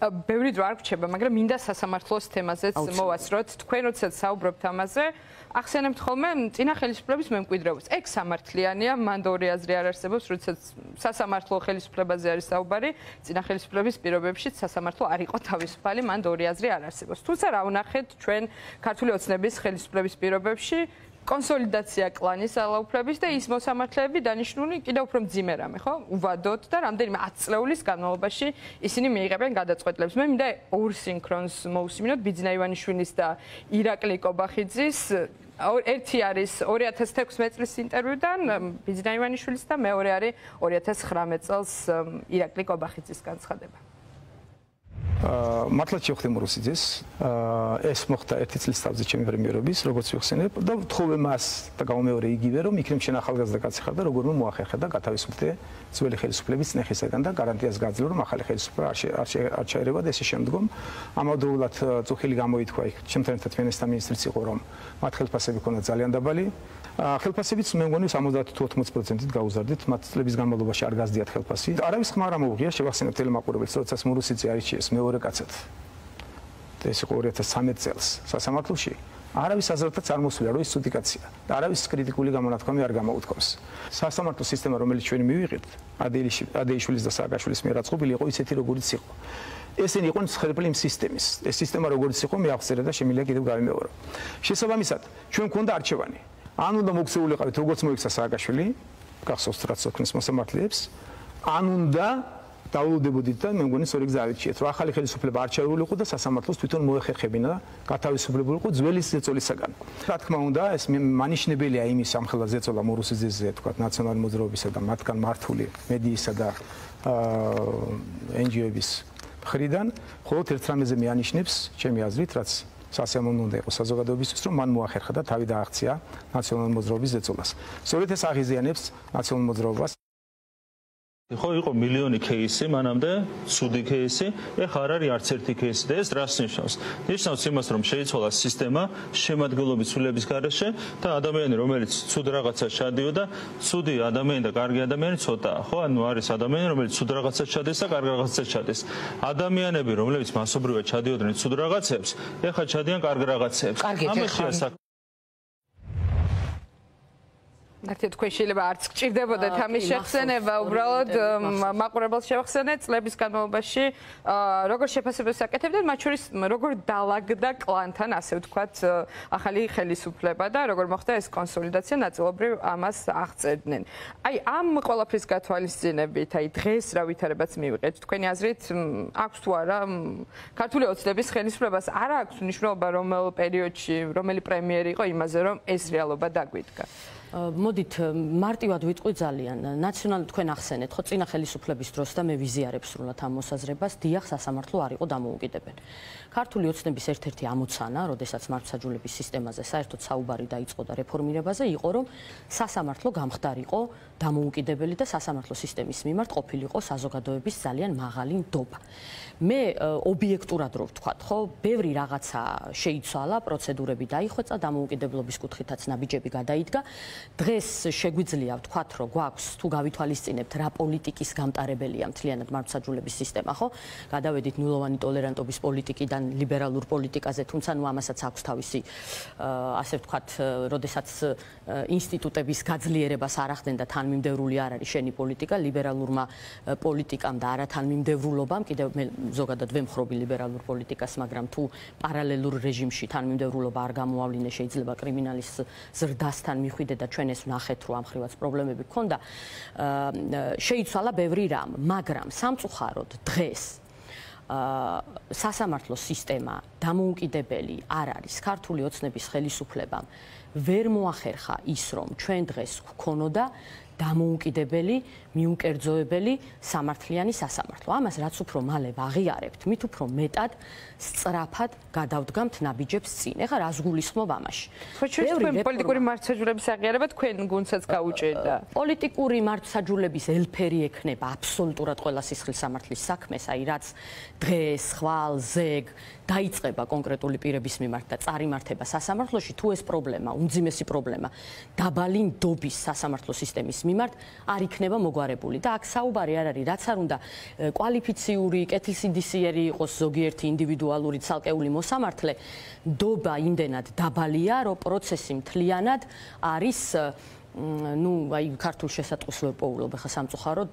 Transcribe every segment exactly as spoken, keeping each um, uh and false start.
ბევრი დრო არ გრჩება, მაგრამ მინდა სასამართლოს თემაზეც მოვასწროთ. თქვენ როდესაც საუბრობთ ამაზე, ახსენებთ ხოლმე წინა ხელისუფლების მემკვიდრეობას. ეგ სამართლიანია, მანდ ორი აზრი არ არსებობს, როდესაც სასამართლო ხელისუფლებაზე არის საუბარი, წინა ხელისუფლების პირობებშიც სასამართლო არ იყო თავისუფალი, მანდ ორი აზრი არ არსებობს. თუმცა რა ვნახეთ ჩვენ ქართული ოცნების ხელისუფლების პირობებში კონსოლიდაცია კლანის ძალაუფლების და ის მოსამართლეები დანიშნული კიდევ უფრო მძიმე რამე, ხო? უვადოდ და რამდენიმე ათი წლეულის განმავლობაში ისინი მიიღებენ გადაწყვეტილებს. მე მინდა ორ სინქრონს მოვუსმინოთ ბიძინა ივანიშვილის და ირაკლი კობახიძის. ერთი არის ორი ათას თექვსმეტ წლის ინტერვიუდან ბიძინა ივანიშვილის და მეორე არის ორი ათას ცხრამეტ წელს ირაკლი კობახიძის განცხადება. მართლა შევხვდი მურუსიძეს, ეს მოხდა ერთი წლის თავზე ჩემი პრემიერობის, როგორც ვიხსენებ და ვთხოვე მას და გამომეორე იგივე, რომ იქნებ შენ ახალგაზრდა კაცი ხარ და როგორმე მოახერხე და გათავისუფლდე ძველი ხელისუფლების წნეხისაგან და გარანტიას გაძლევ, რომ ახალი ხელისუფლება არ ჩაერევა და ესე შემდგომ ამავდროულად წუხილი გამოითქვა იქ ჩემთან ერთად ფინანსთა მინისტრიც იყო, რომ მათ ხელფასები ქონდა ძალიან დაბალი. ხელფასებიც მე მგონი სამოცდაათი თუ ოთხმოცი პროცენტით გაუზარდით, მათ წლების განმავლობაში არ გაზდიათ ხელფასი. არავის ხმა არ ამოუღია, შევახსენებ ტელემაყურებელს, როდესაც მურუსიძე არიჩიეს მეორე კაცად. ეს იყო ორი ათას ცხრამეტ წელს სასამართლოში. არავის აზრითაც არ მოსვლა, რომ ის ცუდი კაცია და არავის კრიტიკული გამონათქვამი არ გამოუთქვამს. სასამართლო სისტემა, რომელიც ჩვენ მივიღეთ, ადეიშვილის და სააკაშვილის მიერ აწყობილი იყო ისეთი, როგორიც იყო. ესენი იყვნენ მსხვერპლი იმ სისტემის. ეს სისტემა როგორიც იყო, მე აღწერე და შემიძლია კიდევ გავიმეორო. შესაბამისად, ჩვენ გვქონდა არჩევანი. ან უნდა მოქცეულიყავით, როგორც მოიქცა სააკაშვილი, გახსოვთ რაც ოქმის მოსამართლეებს, ან უნდა დაულოდებოდით და მე მგონი სწორი გზა ავირჩიეთ, რომ ახალი ხელისუფლება არ ჩაეულიყო და სასამართლოს თვითონ მოეხერხებინა და გათავისუფლებულიყო ძველი ზეწოლისაგან. რა თქმა უნდა, ეს მანიშნებელია იმის ამხელა ზეწოლა მურუსიძეზე, თქვა ნაციონალური მოძრაობისა და მათგან მართული მედიისა და ენ ჯი ო-ების მხრიდან, მხოლოდ ერთ რამეზე მეანიშნებს, ჩემი აზრით, რაც სასიამოვნო უნდა იყოს საზოგადოებისთვის, რომ მან მოახერხა და თავი დააღწია ნაციონალური მოძრაობის ზეწოლას. სწორედ ეს აღიზიანებს ნაციონალურ მოძრაობას. ხო, იყო მილიონი кейსი მანამდე, ცუდი кейსი, ეხლა არ არის არც ერთი кейსი და ეს რას ნიშნავს? ნიშნავს იმას, რომ შეიცვალა სისტემა შემადგენლობის ცვლილების გარეშე და ადამიანი, რომელიც ცუდ რაღაცას ჩადიოდა, ცუდი ადამიანი და კარგი ადამიანი ცოტაა, ხო? ანუ არის ადამიანი, რომელიც ცუდ რაღაცას ჩადის და კარგ რაღაცას ჩადის. ადამიანები, რომლებიც მასობრივად ჩადიოდნენ ცუდ რაღაცებს, ეხლა ჩადიან კარგ რაღაცებს. ამაშია საქმე. ნახეთ, თქვენ შეიძლება არც გჭირდებოდეთ ამის შეხსენება, უბრალოდ მაყურებელს შევახსენეთ წლების განმავლობაში როგორ შეფასებებს აკეთებდნენ, მათ შორის როგორ დაალაგდა კლანთან, ასე ვთქვათ, ახალი ხელისუფლება და როგორ მოხდა ეს კონსოლიდაცია, ნაწილობრივ ამას აღწერდნენ. აი, ამ ყველაფრის გათვალისწინებით, აი დღეს რა ვითარებაც მივიღეთ, თქვენი აზრით აქვს თუ არა ქართული ოცნების ხელისუფლებას არ აქვს მნიშვნელობა რომელ პერიოდში, რომელი პრემიერი იყო იმაზე, რომ ეს რეალობა დაგვიდგა? მოდით მარტივად ვიტყვი ძალიან ნაციონალური თქვენ ახსენეთ ხო წინა ხელისუფლების დროს და მე ვიზიარებ სრულად ამ მოსაზრებას დიახ სასამართლო არ იყო დამოუკიდებელი ქართული ოცნების ერთ-ერთი ამოცანა როდესაც მართლმსაჯულების სისტემაზე საერთოდ საუბარი დაიწყო და რეფორმირებაზე იყო რომ სასამართლო გამხდარიყო დამოუკიდებელი და სასამართლო სისტემის მიმართ ყოფილიყო საზოგადოების ძალიან მაღალი ნდობა მე ობიექტურად რო ვთქვათ ხო ბევრი რაღაცა შეიცვალა პროცედურები დაიხვეწა დამოუკიდებლობის კუთხითაც ნაბიჯები გადაიდგა დღეს შეგვიძლია ვთქვათ რომ გვაქვს თუ გავითვალისწინებთ რა პოლიტიკის გამტარებელია მთლიანად მართლმსაჯულების სისტემა ხო გადავედით ნულოვანი ტოლერანტობის პოლიტიკიდან ლიბერალურ პოლიტიკაზე თუმცა ნუ ამასაც აქვს თავისი ასე ვთქვათ როდესაც ინსტიტუტების გაძლიერებას არ ახდენდა თანმიმდევრული არ არის შენი პოლიტიკა ლიბერალურმა პოლიტიკამ და არა თანმიმდევრულობამ კიდევ მე ზოგადად ვემხრობი ლიბერალურ პოლიტიკას მაგრამ თუ პარალელურ რეჟიმში თანმიმდევრულობა არ გამოავლინე შეიძლება კრიმინალის ზრდასთან მიხვიდე და ჩვენ ეს ვნახეთ რომ ამხრივაც პრობლემები გქონდა შეიცვალა ბევრი რამ მაგრამ სამწუხაროდ დღეს სასამართლო სისტემა დამოუკიდებელი არ არის ქართული ოცნების ხელისუფლებამ ვერ მოახერხა ის რომ ჩვენ დღეს გქონოდა დამოუკიდებელი მიუკერძოებელი სამართლიანი სასამართლო ამას რაც უფრო მალე ვაღიარებთ მით უფრო მეტად სწრაფად გადავდგამთ ნაბიჯებს წინ ეხლა რას გულისხმობ ამაში თქვენ პოლიტიკური მართლმსაჯულების აღიარება თქვენ გუნდსაც გაუჭირდა პოლიტიკური მართლმსაჯულების ელფერი ექნება აბსოლუტურად ყველა სისხლის სამართლის საქმეს აი რაც დღეს ხვალ ზეგ დაიწყება კონკრეტული პირების მიმართ და წარიმართება სასამართლოში თუ ეს პრობლემა უმძიმესი პრობლემა დაბალი ნდობის სასამართლო სისტემის მიმართ არ იქნება მოგვარებული და აქ საუბარი არ არის რაც არ უნდა კვალიფიციური, კეთილსინდისიერი იყოს ზოგიერთი ინდივიდუალური ცალკეული მოსამართლე, დობა იმდენად დაბალია, რომ პროცესი მთლიანად არის ну, აი ქართულ შესატყვისს ვეპოულობ ხა სამწუხაროდ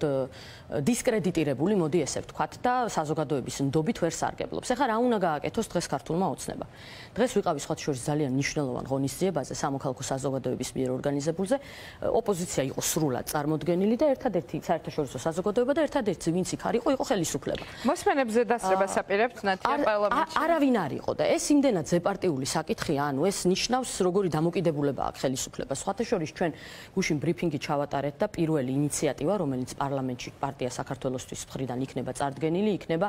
დისკრედიტირებული, მოდი ესე ვთქვათ და საზოგადოების ნდობით ვერ სარგებლობს. ეხლა რა უნდა გააკეთოს დღეს ქართულმა ოცნება? დღეს ვიყავი სხვათა შორის ძალიან მნიშვნელოვან ღონისძიებაზე სამოქალაქო საზოგადოების მიერ ორგანიზებულზე. ოპოზიცია იყო სრულად წარმოდგენილი და ერთადერთი საერთაშორისო საზოგადოება და ერთადერთი ვინც იქ არ იყო, იყო ხელისუფლება. მოსმენებზე დასწრებას აპირებთ ნათია პარლამენტში? არავინ არ იყო და ეს იმდენად ზეპარტიული საკითხია, ანუ ეს ნიშნავს როგორი დამოკიდებულება აქვს ხელისუფლებას. სხვათა შორის ჩვენ გუშინ ბრიფინგი ჩავატარეთ და პირველი ინიციატივა, რომელიც პარლამენტში პარტია საქართველოსთვის მხრიდან იქნება წარდგენილი, იქნება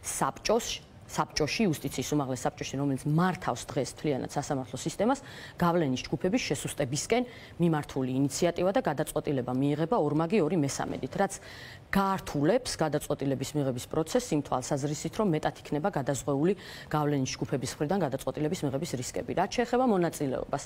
საბჭოს საბჭოში, იუსტიციის უმაღლეს საბჭოში, რომელიც მართავს დღეს მთლიანად სასამართლო სისტემას, გავლენის ჯგუფების შესუსტებისკენ მიმართული ინიციატივა და გადაწყვეტილება მიიღება ორმაგი ორი მესამედით, რაც გაართულებს გადაწყვეტილების მიღების პროცესს იმ თვალსაზრისით, რომ მეტად იქნება გადაზღვეული გავლენის ჯგუფების მხრიდან გადაწყვეტილების მიღების რისკები. რაც შეეხება მონაწილეობას.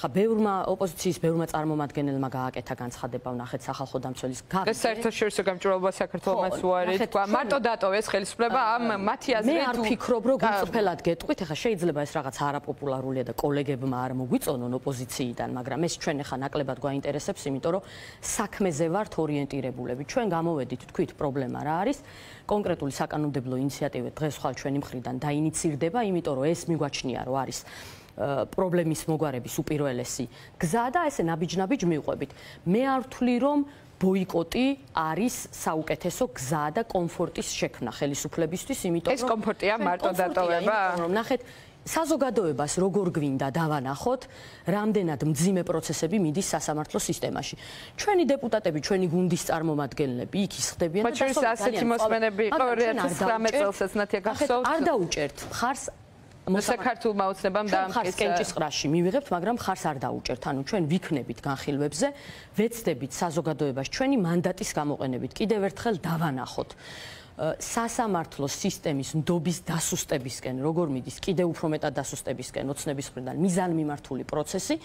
ხა ბევრმა ოპოზიციის ბევრმა წარმომადგენელმა გააკეთა განცხადება, ვნახეთ სახალხო დამცველის გაგზავნა. ეს საერთაშორისო გამჭვირვალობა საქართველოს უარი თქვა, მარტო დატოვეს ხელისუფლება ამ მათი აზრით ვფიქრობ, რომ გიწფელად გეტყვით, ეხლა შეიძლება ეს რაღაც არაპოპულარულია და კოლეგებმა არ მოგვიწონონ ოპოზიციიდან, მაგრამ ეს ჩვენ ეხლა ნაკლებად გვაინტერესებს, იმიტომ რომ საქმეზე ვართ ორიენტირებულები. ჩვენ გამოვედით, თქვით, პრობლემა რა არის? კონკრეტული საკანონმდებლო ინიციატივა დღეს ხვალ ჩვენი მხრიდან დაინიცირდება, იმიტომ რომ ეს მიგვაჩნია, რომ არის პრობლემის მოგვარების უპირველესი გზა და ესე ნაბიჯ-ნაბიჯ მივყვებით. მე არ ვთვლი, რომ ბოიკოტი არის საუკეთესო გზა და კომფორტის შექმნა ხელისუფლებისთვის, იმიტომ რომ ეს კომფორტია მარტო დატოვება? ნახეთ, საზოგადოებას როგორ გვინდა დავანახოთ, რამდენად მძიმე პროცესები მიდის სასამართლო სისტემაში. ჩვენი დეპუტატები, ჩვენი გუნდის წარმომადგენლები იქ ისხდებიან და ჩვენ ასეთი მოსმენები იყო ორი ათას ცხრამეტ წელსაც ნათია გახსოვთ? არ დაუჭერთ ხარს საქართველოს ოცნებამ დაამტკიცა კენჭისყრაში მივიღებთ, მაგრამ ხარს არ დაუჭერთ. ანუ ჩვენ ვიქნებით განხილვებზე, ვეცდებით საზოგადოებას ჩვენი მანდატის გამოყენებით კიდევ ერთხელ დავანახოთ სასამართლო სისტემის ნდობის დასუსტებისკენ, როგორ მიდის კიდევ უფრო მეტად დასუსტებისკენ ოცნების მხრიდან მიზანმიმართული პროცესი.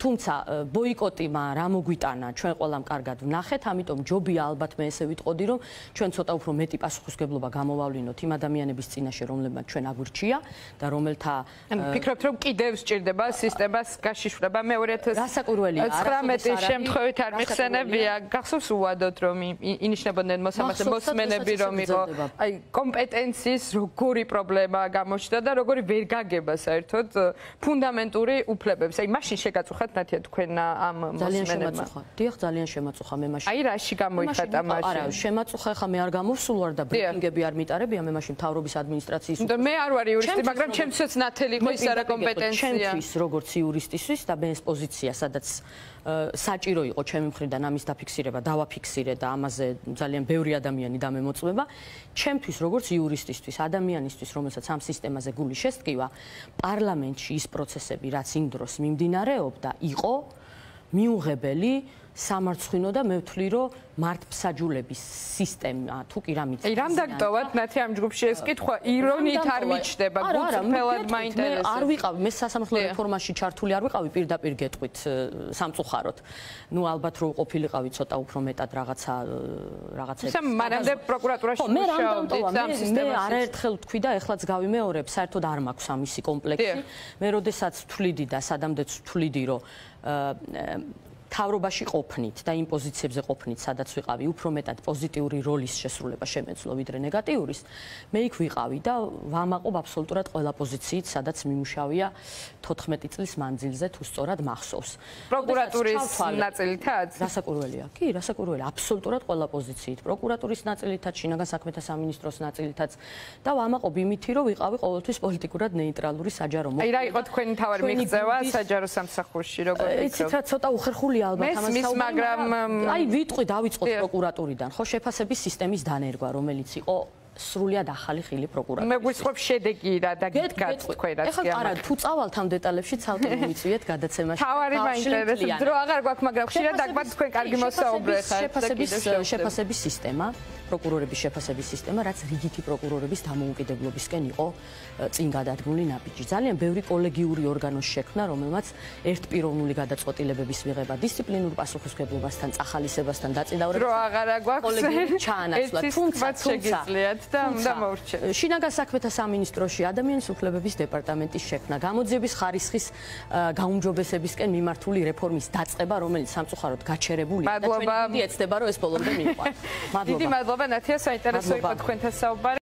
თუმცა ბოიკოტმა რა მოგვიტანა, ჩვენ ყველამ კარგად ვნახეთ, ამიტომ ჯობია ალბათ მე ესე ვიტყოდი, რომ ჩვენ ცოტა უფრო მეტი პასუხისმგებლობა გამოვავლინოთ იმ ადამიანების წინაშე, რომლებმაც ჩვენ აგვირჩია და რომელთა ფიქრობთ, რომ კიდევ სჭირდება სისტემას გაშიშვლება? მე ორი ათას ცხრამეტის შემთხვევით არ მიხსენებია, გახსოვს უვადოთ, რომ ინიშნებოდნენ მოსამართლე მოსმენები, რომ იყო აი კომპეტენციის როგორი პრობლემა გამოჩნდა და როგორი ვერ გაგება საერთოდ ფუნდამენტური უფლებებს. აი მაშინ შეგაწუხათ ნათია თქვენ ამ მოსმენებმა? დიახ, ძალიან შემაწუხა მე მაშინ. აი რაში გამოიხატა მაშინ? არა, შემაწუხა ხა მე არ გამოვსულ ვარ და ბრიფინგები არ მიტარებია, მე მაშინ მთავრობის ადმინისტრაციის და მე არ ვარ იურისტი, მაგრამ ჩემთვისაც ნათელი იყო ის არა კომპეტენცია. ჩემთვის როგორც იურისტისთვის და მე ეს პოზიცია, სადაც საჭირო იყო ჩემი მხრიდან ამის დაფიქსირება, დავაფიქსირე და ამაზე ძალიან ბევრი ადამიანი დამემოწმება. ჩემთვის როგორც იურისტისთვის, ადამიანისთვის, რომელსაც ამ სისტემაზე გული შესტკივა, პარლამენტში ის პროცესები, რაც იმ დროს მიმდინარეობდა, იყო მიუღებელი, სამარცხვინო და მე ვთვლი, რომ მართლმსაჯულების სისტემა თუ კი რა მიწევს. აი რამ დაგტოვათ ნათია ამ ჯგუფში ეს კითხვა ირონიით არ მიჩნდება, გულწრფელად მაინტერესებს. არ ვიყავი, მე სასამართლო რეფორმაში ჩართული არ ვიყავი, პირდაპირ გეტყვით სამწუხაროდ. ნუ ალბათ რო ყოფილიყავი ცოტა უფრო მეტად რაღაცა რაღაცებს. ისე მანამდე პროკურატურაში მუშაობდით ამ სისტემაში. მე არაერთხელ ვთქვი და ეხლაც გავიმეორებ, საერთოდ არ მაქვს ამისი კომპლექსი. მე როდესაც ვთვლიდი და სადამდეც ვთვლიდი, რომ თავრობაში ყოფნით და იმ პოზიციებზე ყოფნით, სადაც ვიყავი, უფრო მეტად პოზიტიური როლის შესრულება შემეძლო ვიდრე ნეგატიურის, მე იქ ვიყავი და ვამაყობ აბსოლუტურად ყველა პოზიციით, სადაც მიმუშავია თოთხმეტი წლის მანძილზე, თუ სწორად მახსოვს. პროკურატურის ნაწილითაც? რასაკვირველია? კი, რასაკვირველია, აბსოლუტურად ყველა პოზიციით. პროკურატურის ნაწილითაც, შინაგან საქმეთა სამინისტროს ნაწილითაც და ვამაყობ იმითი, რომ ვიყავი ყოველთვის პოლიტიკურად ნეიტრალური საჯარო მოქმედი. აი რა იყო თქვენი მთავარი მიღწევა საჯარო სამსახურში, როგორ ვიქცევ? იცით რა, ცოტა უხერხული ალბათ ამას მის მაგრამ აი ვიტყვი დავიწყოთ პროკურატურიდან ხო შეფასების სისტემის დანერგვა რომელიც იყო სრულიად ახალი ხილი პროკურატურა მე გვიწყობ შედეგი რა და გითხრათ თქვენ რაც კი არა თუ წავალთ ამ დეტალებში ცალკე მომიწვიეთ გადაცემაში თავარი მაინტერესებს დრო აღარ გვაქვს მაგრამ ხშირად დაგვაქვს თქვენ კარგი მოსაუბრე ხართ შეფასების შეფასების სისტემა პროკურორების შეფასების სისტემა, რაც რიგითი პროკურორების დამოუკიდებლობისკენ იყო წინ გადადგმული ნაბიჯი. ძალიან ბევრი კოლეგიური ორგანოს შექმნა, რომელმაც ერთპიროვნული გადაწყვეტილებების მიღება, დისციპლინურ პასუხისმგებლობასთან, წახალისებასთან დაწინაურებას რო აღარა გვაქვს ჩაანაცვლა, თუმცა შეგიძლიათ და უნდა მოვრჩეთ. შინაგან საქმეთა სამინისტროში ადამიანის უფლებების დეპარტამენტის შექმნა, გამოძიების ხარისხის გაუმჯობესებისკენ მიმართული რეფორმის დაწყება, რომელიც სამწუხაროდ გაჩერებულია და ჩვენი დიდი ეცდება, რომ ეს ბოლომდე მიყვანს. დიდი მადლობა ნათია, საინტერესო იყო თქვენთან საუბარი.